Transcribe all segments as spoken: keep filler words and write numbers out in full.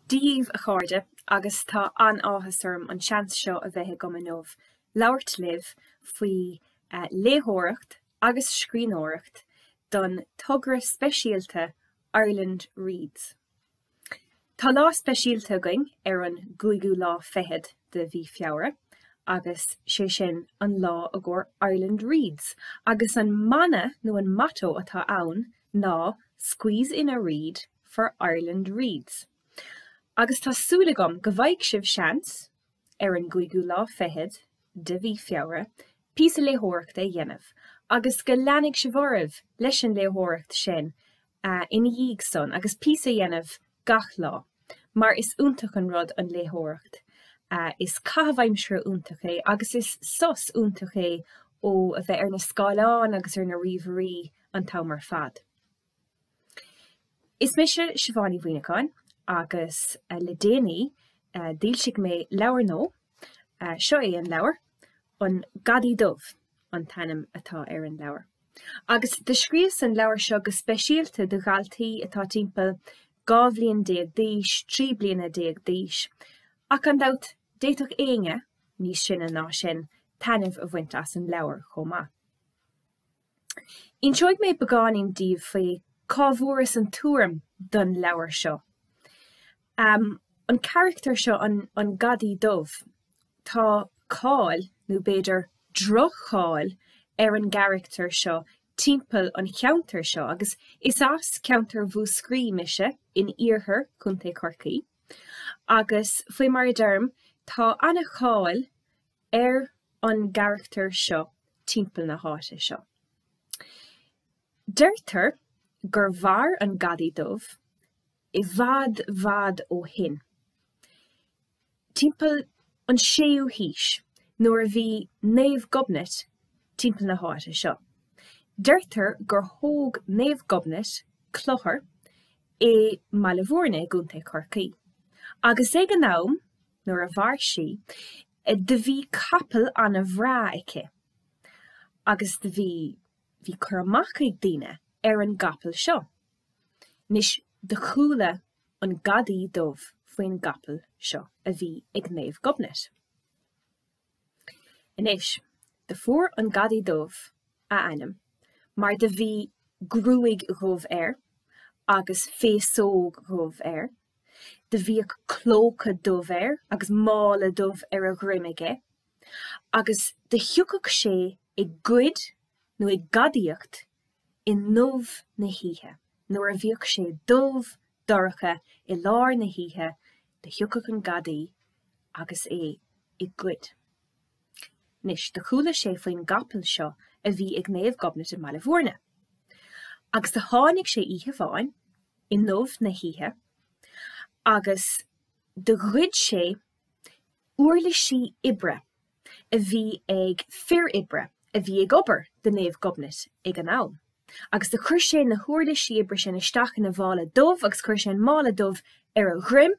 Dia dhaoibh a chairde agus tá an-áthas orm an seans seo a bheith agam inniu labhairt libh faoi léitheoireacht agus scríbhneoireacht don togra speisialta Ireland Reads. Tá lá speisialta againn ar an gcúigiú lá fichead de mhí Feabhra agus sé sin an lá i gcomhair Ireland Reads agus an mana nó an motto atá ann ná 'Squeeze in a read for Ireland Reads'. Agus tá súil agam go bhfaighidh sibh seans, ar an gcúigiú lá fichead de mhí Feabhra, píosa léitheoireachta a dhéanamh agus go leanfaidh sibh oraibh leis an léitheoireacht sin ina dhiaidh san agus píosa a dhéanamh gach lá, mar is iontach an rud an léitheoireacht. Is caitheamh aimsire iontach é agus is sos iontach é ó a bheith ar na scáileáin agus ar na ríomhairí an t-am ar fad. Is mise Siobhán Ní Mhuimhneacháin agus le déanaí d'fhoilsigh mé leabhar nua, seo é an leabhar, An Gadaí Dubh an t-ainm atá ar an leabhar. Agus do scríobhas an leabhar seo go speisialta do dhaltaí atá timpeall dhá bhliain déag d'aois, trí bliana déag d'aois, ach gan dabht d'fhéadfadh éinne níos sine ná sin taitneamh a bhaint as an leabhar chomh maith. Inseoidh mé beagáinín daoibh faoi cá bhfuaireas an tuairim don leabhar seo. Um, an carachtar seo an, an Gadaí Dubh, tá cáil, nó b'fhéidir droch-cháil, ar an gcarachtar seo timpeall an cheantair seo agus is as ceantar Mhúscraí mise in iarthar Chontae Chorcaí agus faoi mar a deirim tá an-cháil ar an gcarachtar seo timpeall na háite seo. Deirtear gur mhair an Gadaí Dubh i bhfad bhfad ó shin, timpeall an séú haois, nuair a bhí Naomh Gobnait timpeall na háite seo. Deirtear gur thóg Naomh Gobnait clochar i mBaile Bhúirne i gContae Chorcaí. Agus ag an am, nuair a mhair sí, do bhí capall an-bhreá aici agus do bhí bhí cur amach ag daoine ar an gcapall seo. Anois do chuala an Gadaí Dubh faoin gcapall seo a bhí ag Naomh Gobnait. Anois, do fuair an Gadaí Dubh a ainm mar do bhí gruaig dhubh air agus féasóg dhubh air, do bhíodh clóca dubh air agus mála dubh ar a dhroim aige, agus do thiocfadh sé ag goid nó ag gadaíocht i ndubh na hoíche. Nuair a bhíodh sé dubh dorcha i lár na hoíche, do thiocfadh an gadaí agus é ag goid. Anois, do chuala sé faoin gcapall seo a bhí ag Naomh Gobnait i mBaile Bhúirne. Agus do tháinig sé oíche amháin i ndubh na hoíche agus do ghoid sé uirlisí oibre a bhí ag fir oibre a bhí ag obair do Naomh Gobnait ag an am. Agus do chuir sé na huirlisí oibre sin isteach ina mhála dubh agus chuir sé an mála dubh ar a dhroim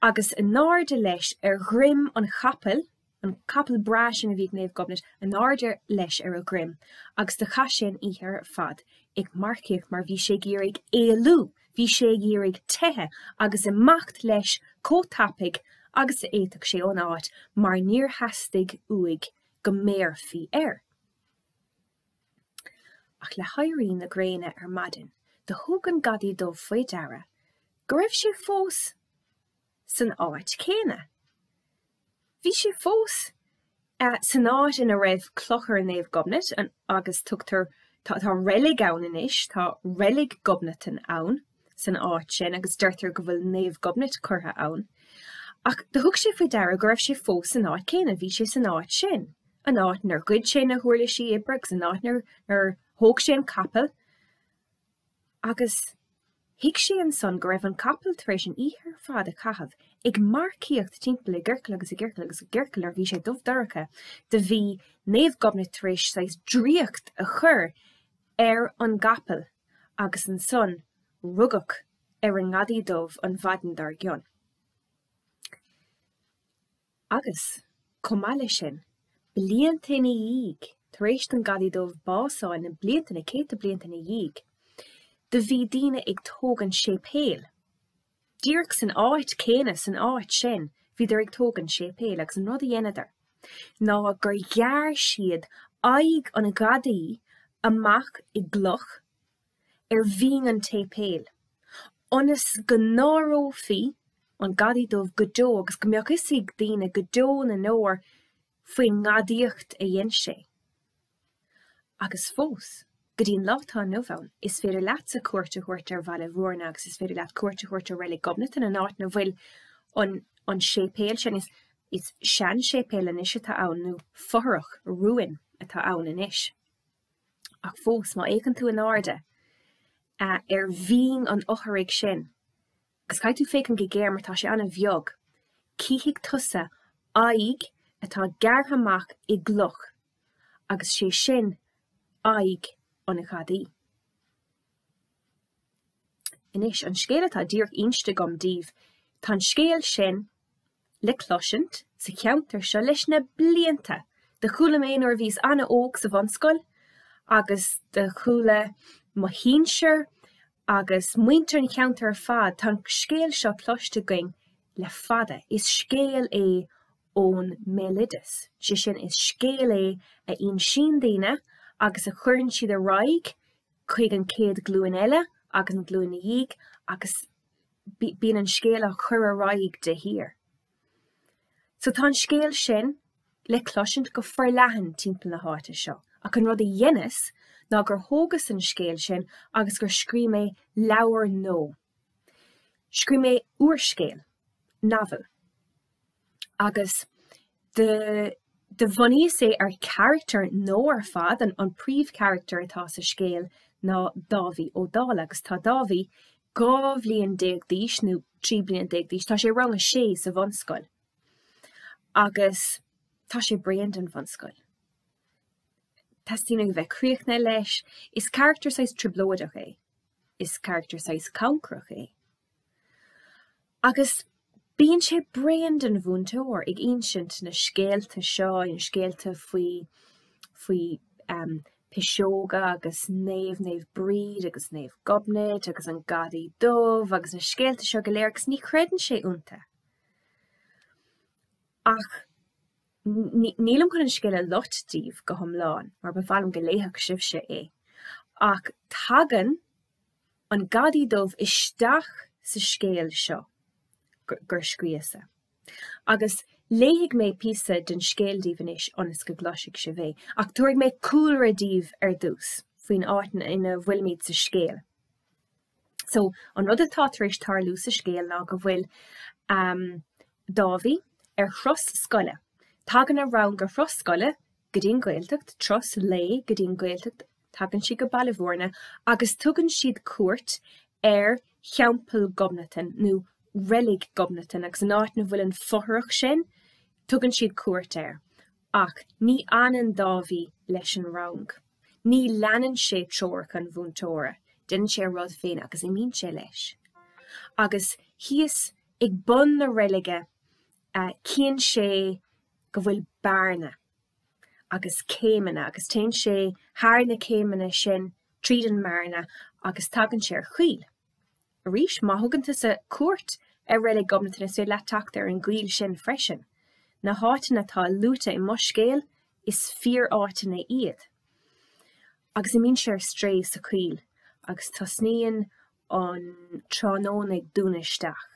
agus in airde leis ar dhroim an chapaill, an capall breá sin a bhí ag Naomh Gobnait, in airde leis ar a dhroim agus do chaith sé an oíche ar fad ag marcaíocht mar bhí sé ag iarraidh éalú, bhí sé ag iarraidh teitheadh agus imeacht leis chomh tapaidh agus a fhéadfadh sé ón áit mar níor theastaigh uaidh go mbéarfaí air. Ach le héirí na gréine ar maidin do thug an Gadaí Dubh faoi deara go raibh sé fós san áit chéanna. Bhí sé fós san áit ina raibh clochar Naomh Gobnait agus tugtar tá tá reilig ann anois, tá reilig Ghobnatan ann san áit sin agus deirtear go bhfuil Naomh Gobnait curtha ann. Ach do thug sé faoi deara go raibh sé fós san áit chéanna, bhí sé san áit sin, an áit inar ghoid sé na huirlisí oibre agus an áit inar thóg sé an capall. Agus thuig sé ansan go raibh an capall tar éis an oíche ar fad a chaitheamh ag marcaíocht timpeall i gciorcal agus i gciorcal agus i gciorcal nuair a bhí sé dubh dorcha, do bhí Naomh Gobnait tar éis saghas draíocht a chur ar an gcapall agus ansan rugadh ar an nGadaí Dubh an mhaidin dár gcionn. Agus, chomh maith leis sin, blianta ina dhiaidh, tar éis don Gadaí Dubh bás a fháil, na blianta, na céadta blianta ina dhiaidh, do bhí daoine ag tógaint séipéil Díreach san áit céanna, san áit sin, bhíodar ag tógaint séipéil agus an rud a dheineadar ná gur ghearr siad aghaidh an ghadaí amach i gcloch ar bhinn an tséipéil, ionas go n-áireofaí an Gadaí Dubh go deo agus go mbeadh fhios ag daoine go deo na ndeor faoin ngadaíocht a dhein sé. Agus fós, go dtí an lá atá inniu ann, is féidir leatsa cuairt a thabhairt ar Bhaile Bhúirne agus is féidir leat cuairt a thabhairt ar Reilig Ghobnatan, an áit ina bhfuil an an séipéal sin. Is is seanséipéal anois atá ann, nó fothrach, ruin, atá ann anois. Ach fós, má fhéachann tú in airde ar bhinn an fhothraigh sin, agus caithfidh tú féachaint go géar mar tá sé an-bheag, cífidh tusa aghaidh atá gearrtha amach i gcloch agus sé sin aghaidh an ghadaí. Anois, an scéal atá díreach inste agam daoibh, tá an scéal sin le cloisint sa cheantar seo leis na blianta. Do chuala mé nuair a bhíos an-óg sa bhunscoil agus do chuala mo shinsir agus muintir an cheantair ar fad, tá an scéal seo cloiste againn le fada. Is scéal é ón mbéaloideas, sé sin, is scéal é a insíonn daoine agus a chuireann siad ar aghaidh chuig an chéad ghlúin eile agus an ghlúin ina dhiaidh agus bíonn an scéal á chur ar aghaidh de shíor. So tá an scéal sin le cloisint go forleathan timpeall na háite seo. Ach an rud a dheineas ná gur thógas an scéal sin agus gur scríobh mé leabhar nua. Scríobh mé úrscéal, novel. Agus do do bhunaíos é ar charachtar nua ar fad, an an príomhcharachtar atá sa scéal ná Dáibhí Ó Dálaigh agus tá Dáibhí dhá bhliain déag d'aois nó trí bliana déag d'aois, tá sé i rang a sé sa bhunscoil. Agus tá sé bréan den bhunscoil. Teastaíonn uaidh a bheith críochnaithe leis. Is carachtar saghas trioblóideach é. Is carachtar saghas cancrach é. Agus bíonn sé bréan den mhúinteoir ag insint na scéalta seo, na scéalta faoi faoi um, piseoga agus Naomh Naomh Bríd agus Naomh Gobnait agus an Gadaí Dubh agus na scéalta seo go léir agus ní chreideann sé iontu. Ach nílim chun an scéal a loit daoibh go hiomlán, mar ba mhaith liom go léifeadh sibhse é. Ach tagann an Gadaí Dubh isteach sa scéal seo gur scríosa. Agus léifidh mé píosa den scéal daoibh anois ionas go gcloisfidh sibh é, ach tabharfaidh mé cúlra daoibh ar dtús faoin áit ina bhfuilimid sa scéal. So an rud atá tar éis tarlú sa scéal ná go bhfuil um, Dáibhí ar thuras scoile. Tagann a rang ar thuras scoile go dtí an Ghaeltacht, turas lae go dtí an Ghaeltacht, tagann siad go Baile Bhúirne agus tugann siad cuairt ar Theampall Ghobnatan nó Reilig Ghobnatan agus an áit ina bhfuil an fothrach sin, tugann siad cuairt air. Ach ní fhanann Dáibhí leis an rang. Ní leanann sé treoracha an mhúinteora, déanann sé a rud féin agus imíonn sé leis. Agus thíos ag bun na reilige cíonn sé go bhfuil bearna agus céimeanna agus téann sé thar na céimeanna sin tríd an mbearna agus tagann sé ar choill. Arís, má thugann tusa cuairt ar Reilig Ghobnatan is féidir leat teacht ar an gcoill sin freisin. Na háiteanna atá luaite i mo scéal, is fíor-áiteanna iad. Agus imíonn sé ar strae sa choill agus tosnaíonn an tráthnóna ag dúnadh isteach.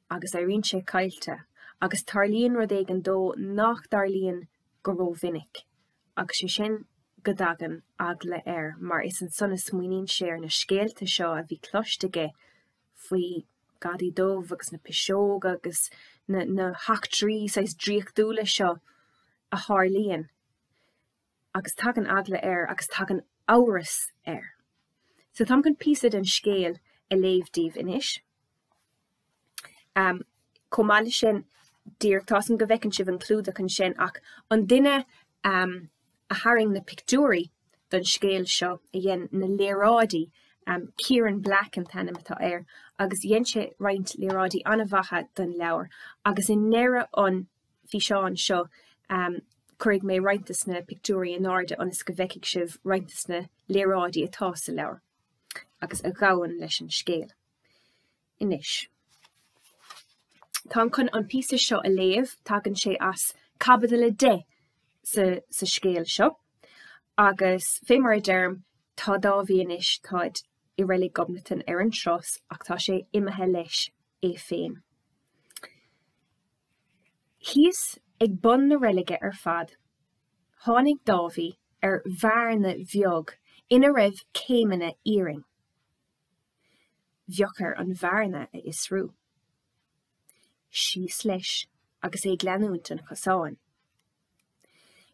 Agus éiríonn sé caillte agus tarlaíonn rud éigin dó nach dtarlaíonn go rómhinic. Agus sé sin go dtagann eagla air mar is ansan a smaoiníonn sé ar na scéalta seo a bhí cloiste aige faoi Gadaí Dubh agus na piseoga agus na, na heachtraí saghas draíochtúla seo a tharlaíonn. Agus tagann eagla air agus tagann amhras air. So táim chun píosa den scéal a léamh daoibh anois. Um, chomh maith leis sin, díreach tá a fhios agam go bhfeiceann sibh an clúdach ansin ach an duine um, a tharraing na pictiúirí don scéal seo a dhein na léaráidí um, Kieran Black an t-ainm atá air agus dhein sé roinnt léaráidí an-mhaithe don leabhar agus i ndeireadh an físeáin seo um, cuirfidh mé roinnt de na pictiúirí in airde ionas go bhfeicfidh sibh roinnt de na léaráidí atá sa leabhar agus a ghabhann leis an scéal. Anois. Táim chun an píosa seo a léamh, tagann sé as caibidil a deich sa, sa scéal seo. Agus fé mar a deirim, tá Dáibhí anois, táid i Reilig Ghobnatan ar an turas ach tá sé imithe leis é féin. Thíos ag bun na reilige ar fad, tháinig Dáibhí ar bhearna bheag ina raibh céimeanna iarainn. Bheadh air an bhearna a fhiosrú. Síos leis agus é ag leanúint an chosáin.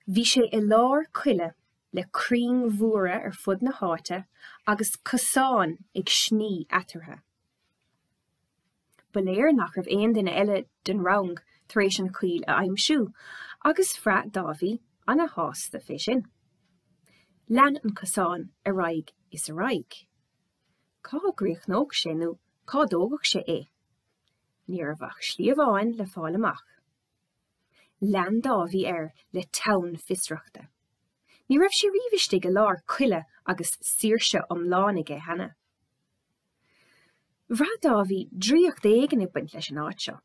Bhí sé i lár coille le crainn mhóra ar fud na háite agus cosán ag sní eatarthu. Ba léir nach raibh aon duine eile den rang tar éis an choill a aimsiú agus bhraith Dáibhí ana-shásta fé sin. Lean an cosán ar aghaidh is ar aghaidh. Cá gcríochnódh sé nó cá dtógfadh sé é? Ní raibh ach slí amháin le fáil amach. Lean Dáibhí air le teann fiosrachta. Ní raibh sé riamh istigh i lár coille agus saoirse iomlán aige cheana. Bhraith Dáibhí draíocht éigin ag baint leis an áit seo.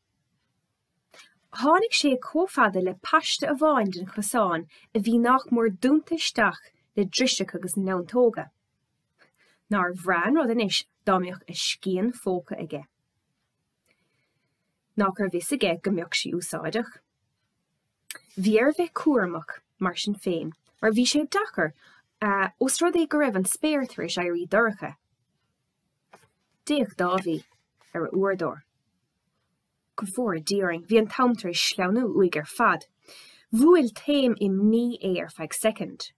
Tháinig sé chomh fada le paiste amháin den chosán a bhí nach mór dúnta isteach le driseacha agus neantóga. Nár bhreá an rud anois dá mbeadh a scian phóca aige. Nach raibh fhios aige go mbeadh sí úsáideach. Bhí air a bheith cúramach mar sin féin, mar bhí sé deacair ós rud é go raibh an spéir tar éis éirí dorcha. D'fhéach Dáibhí ar a uaireadóir. Go bhfóire Dia orainn, bhí an t-am tar éis sleamhnú uaidh ar fad. Bhuail taom imní é ar feadh soicind,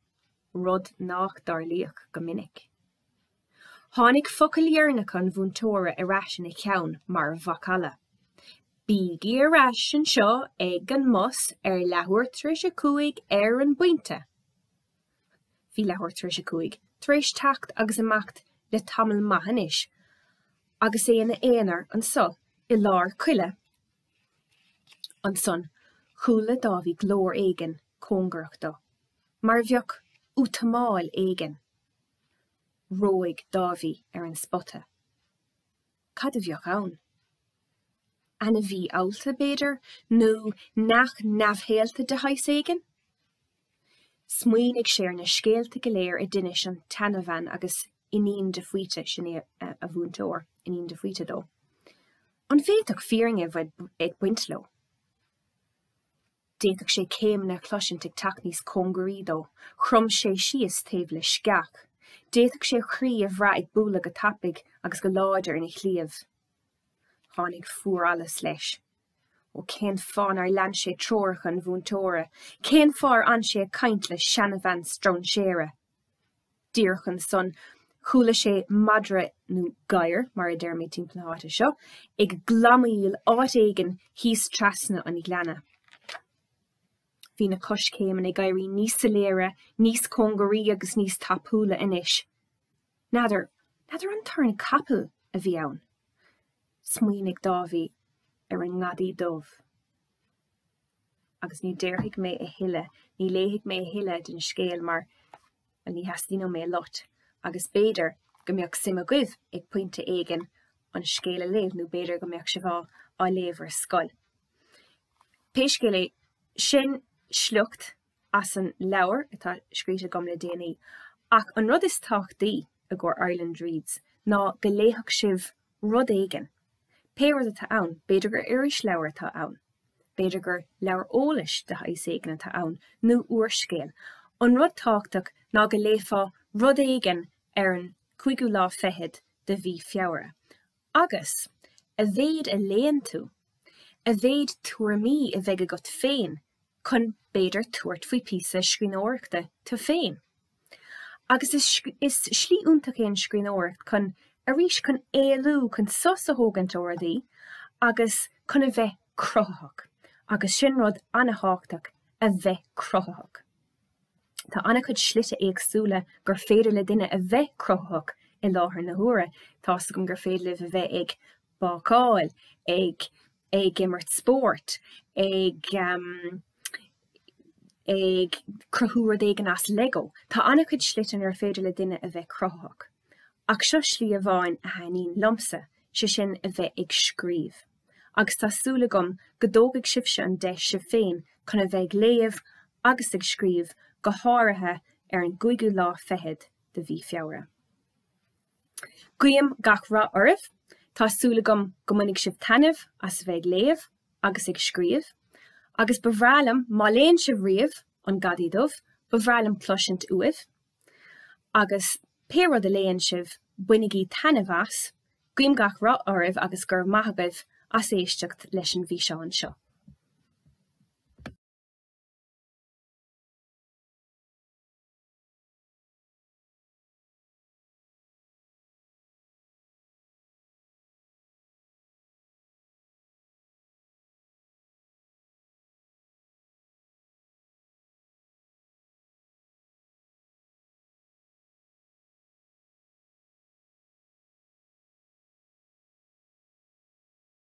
rud nach dtarlaíodh go minic. Tháinig focail dheireanacha an mhúinteora ar ais ina cheann mar mhacalla. Bígí ar ais anseo ag an mbus ar leathuair tar éis a cúig ar an bpointe. Bhí leathuair tar éis a cúig tar éis teacht agus imeacht le tamall maith anois, agus é ina aonar anso i lár coille. Ansan chuala Dáibhí glór éigin cóngarach dó, mar a bheadh útamáil éigin. Reoigh Dáibhí ar an spota. Cad a bheadh ann? Ainmhí allta, b'fhéidir, nó neach neamhshaolta de shaghas éigin? Smaoinigh sé ar na scéalta go léir a d'inis an tseanbhean agus Iníon de Faoite, sin é a mhúinteoir, Iníon de Faoite dó. An bhféadfadh fírinne a bheith ag baint leo? D'fhéadfadh sé céimeanna a chloisint ag teacht níos cóngaraí dó. Chrom sé síos taobh le sceach. D'fhéadfadh sé a chroí a bhrath ag bualadh go tapaidh agus go láidir ina chliabh. Tháinig fuarallas leis. Ó cén fáth nár lean sé treoracha an mhúinteora? Cén fáth ar fhan sé ag caint le seanbhean strainséara? Díreach ansan, chuala sé madra nó gadhar, mar a deirimid timpeall na háite seo, ag glamaíl áit éigin thíos trasna an ghleanna. Bhí na coiscéimeanna ag éirí níos soiléire, níos cóngaraí agus níos tapúla anois. N'fheadar, n'fheadar an torann capaill a bhí ann? Smaoinigh Dáibhí ar an ngadaí dubh. Agus ní déarfaidh mé a thuilleadh, ní léifidh mé a thuilleadh den scéal mar ní theastaíonn mé lot, agus b'fhéidir go mbeadh suim agaibh ag pointe éigin an scéal a léamh nó b'fhéidir go mbeadh sibh á á léamh ar scoil. Pé scéal é, sin sliocht as an leabhar atá scríte agam le déanaí, ach an rud is tábhachtaí i gcomhair Ireland Reads ná go léifeadh sibh rud éigin. Pé rud atá ann, b'fhéidir gur irisleabhar atá ann, b'fhéidir gur leabhar eolais de shaghas éigin atá ann, nó úrscéal. An rud tábhachtach ná go léifeá rud éigin ar an cúigiú lá fichead de mhí Feabhra. Agus a mhéad a léann tú, a mhéad tuairimí a bheidh agat féin chun b'fhéidir tabhairt faoi píosa scríbhneoireachta tú féin. Agus is, is slí iontach é an scríbhneoireacht chun arís chun éalú, chun sos a thógaint ó rudaí agus chun a bheith cruthaitheach. Agus sin rud an-tábhachtach a bheith cruthaitheach. Tá an-chuid slite éagsúla gur féidir le duine a bheith cruthaitheach i láthair na huaire. Tá's agam gur féidir libh a bheith ag bácáil, ag ag imirt spóirt, ag um, ag cruthú rud éigin as Lego. Tá an-chuid slite ar féidir le duine a bheith cruthaitheach. Ach seo slí amháin a thaitníonn liomsa sé sin a bheith ag scríobh. Agus tá súil agam go dtógfaidh sibhse an deis sibh féin chun a bheith ag léamh agus ag scríobh go háirithe ar an gcúigiú lá fichead de mhí Feabhra. Guím gach rath oraibh, Tá súil agam go mbainfidh sibh taitneamh as a bheith ag léamh agus ag scríobh, agus ba bhreá liom má léann sibh riamh an Gadaí Dubh, ba bhreá liom cloisint uaibh, agus pé rud a léann sibh, bainigí taitneamh as, guím gach rath oraibh agus go raibh maith agaibh as éisteacht leis an bhfíseán seo.